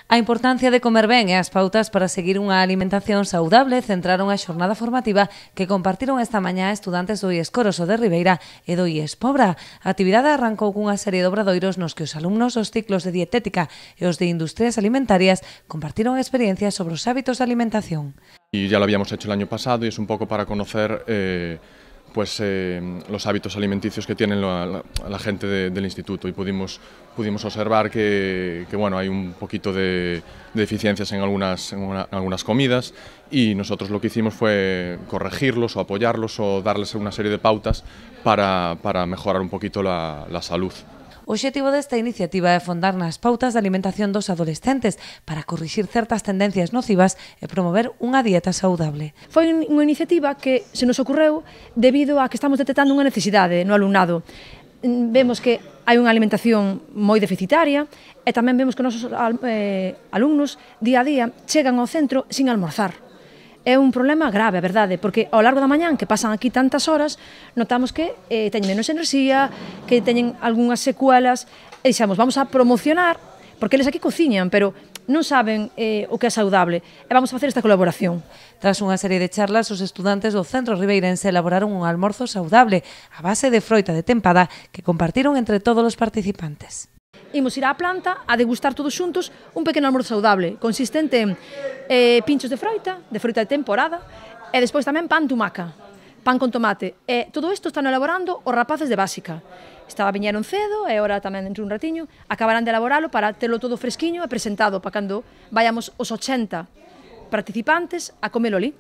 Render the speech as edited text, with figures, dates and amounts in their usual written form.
A importancia de comer ben e as pautas para seguir unha alimentación saudable centraron a xornada formativa que compartiron esta mañá estudantes do IES Coroso de Ribeira e do IES Pobra. A actividade arrancou cunha serie de obradoiros nos que os alumnos dos ciclos de dietética e os de industrias alimentarias compartiron experiencias sobre os hábitos de alimentación. Y ya lo habíamos hecho el año pasado y es un poco para conocer los hábitos alimenticios que tienen la gente del instituto, y pudimos observar que bueno, hay un poquito de deficiencias en algunas comidas, y nosotros lo que hicimos fue corregirlos o apoyarlos o darles una serie de pautas para mejorar un poquito la salud. O obxectivo desta iniciativa é fondar nas pautas de alimentación dos adolescentes para corrixir certas tendencias nocivas e promover unha dieta saudable. Foi unha iniciativa que se nos ocorreu debido a que estamos detectando unha necesidade no alumnado. Vemos que hai unha alimentación moi deficitaria e tamén vemos que os nosos alumnos día a día chegan ao centro sin almorzar. É un problema grave, a verdade, porque ao largo da mañán que pasan aquí tantas horas, notamos que teñen menos enerxía, que teñen algunhas secuelas, e dixemos, vamos a promocionar, porque eles aquí cociñan, pero non saben o que é saudable, e vamos a facer esta colaboración. Tras unha serie de charlas, os estudantes do Centro Ribeirense elaboraron un almorzo saudable a base de froita de tempada que compartiron entre todos os participantes. Imos ir á planta a degustar todos xuntos un pequeno almorzo saudable, consistente en pinchos de froita de temporada, e despois tamén pan tumaca, pan con tomate. E todo isto están elaborando os rapaces de básica. Viñeron cedo e agora tamén dentro un ratiño acabarán de elaboralo para telo todo fresquiño e presentado para cando vayamos os 80 participantes a comelo ali.